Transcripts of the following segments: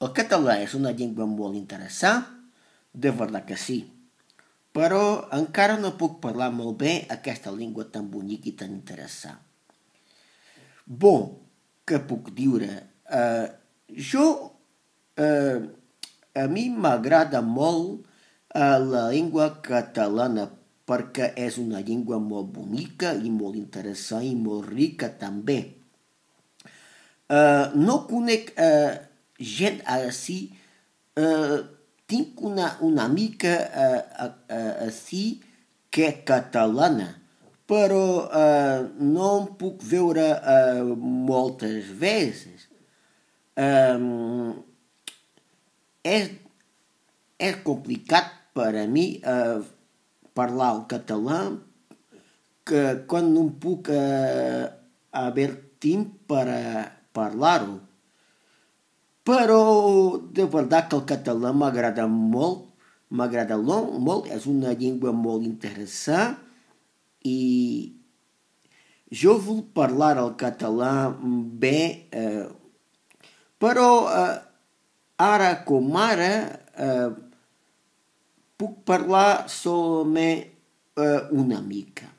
El català és una llengua molt interessant, de veritat que sí, però encara no puc parlar molt bé aquesta llengua tan bonica i tan interessant. Bon, què puc dir? Jo, a mi m'agrada molt la llengua catalana perquè és una llengua molt bonica i molt interessant i molt rica també. No conec gent així, tinc una amiga així que és catalana, però no em puc veure moltes vegades. És complicat per a mi parlar el català que quan no puc haver temps per parlar-ho. Però de veritat que el català m'agrada molt, és una llengua molt interessant i jo vull parlar el català bé, però ara com ara puc parlar solament una mica.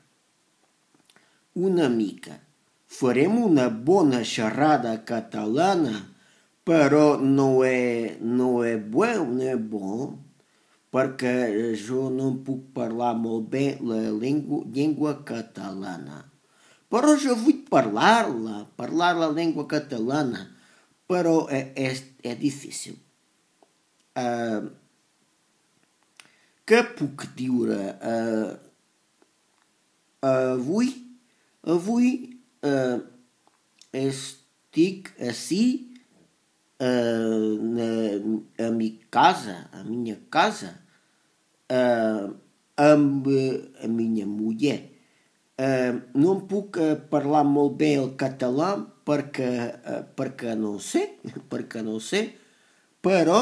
Farem una bona xerrada catalana, però no és bo, perquè jo no puc parlar molt bé la llengua catalana. Però jo vull parlar la llengua catalana, però és difícil. Què puc dir? Avui estic ací a minha casa, amb a minha mulher. No puc parlar molt bé el català perquè no sé, però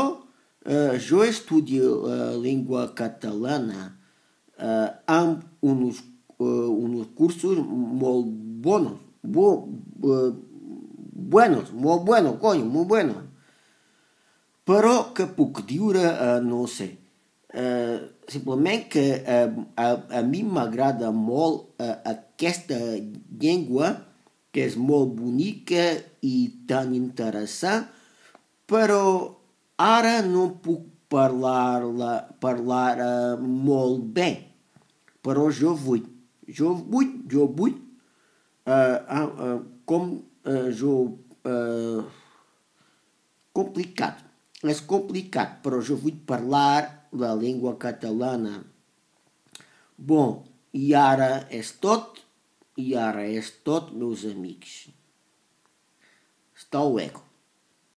jo estudio la llengua catalana amb uns cursos molt buenos. Però què puc dir? No sé. Simplement que a mi m'agrada molt aquesta llengua, que és molt bonica i tan interessant, però ara no puc parlar molt bé. Però jo vull. Complicat. És complicat, però jo vull parlar la llengua catalana. Bon, i ara és tot, meus amics. Hasta luego.